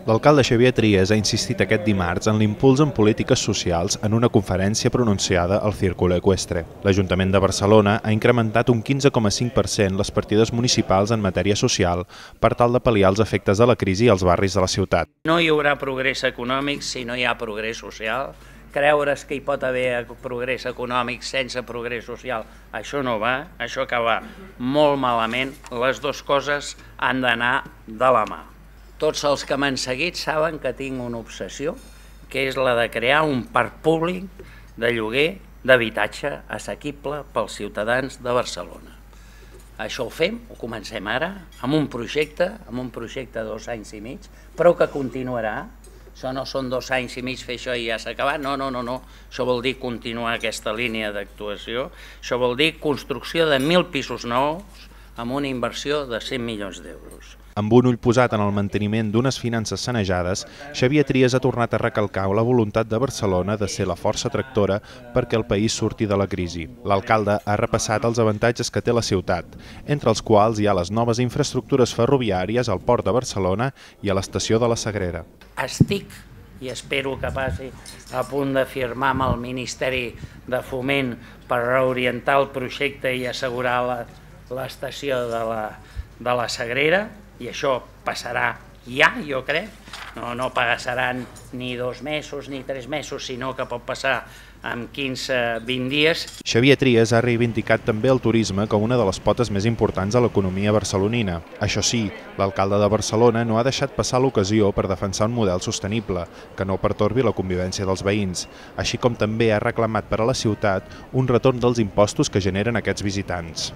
L'alcalde Xavier Trias ha insistit aquest dimarts en l'impuls en polítiques socials en una conferència pronunciada al Círculo Ecuestre. L'Ajuntament de Barcelona ha incrementat un 15,5% les partides municipals en matèria social per tal de pal·liar els efectes de la crisi als barris de la ciutat. No hi haurà progrés econòmic si no hi ha progrés social. Creure's que hi pot haver progrés econòmic sense progrés social, això no va, això acaba molt malament. Les dues coses han d'anar de la mà. Tots els que m'han seguit saben que tinc una obsessió, que és la de crear un parc públic de lloguer d'habitatge assequible pels ciutadans de Barcelona. Això ho fem, ho comencem ara, amb un projecte de 2 anys i mig, però que continuarà. Això no són 2 anys i mig fer això i ja s'ha acabat, no. Això vol dir continuar aquesta línia d'actuació, això vol dir construcció de 1.000 pisos nous amb una inversió de 100 milions d'euros. Amb un ull posat en el manteniment d'unes finances sanejades, Xavier Trias ha tornat a recalcar la voluntat de Barcelona de ser la força tractora perquè el país surti de la crisi. L'alcalde ha repassat els avantatges que té la ciutat, entre els quals hi ha les noves infraestructures ferroviàries al Port de Barcelona i a l'estació de la Sagrera. Estic, i espero que passi, a punt de firmar amb el Ministeri de Foment per reorientar el projecte i assegurar l'estació de la Sagrera, i això passarà ja, jo crec. No passaran ni 2 mesos ni 3 mesos, sinó que pot passar en 15-20 dies. Xavier Trias ha reivindicat també el turisme com una de les potes més importants de l'economia barcelonina. Això sí, l'alcalde de Barcelona no ha deixat passar l'ocasió per defensar un model sostenible, que no pertorbi la convivència dels veïns, així com també ha reclamat per a la ciutat un retorn dels impostos que generen aquests visitants.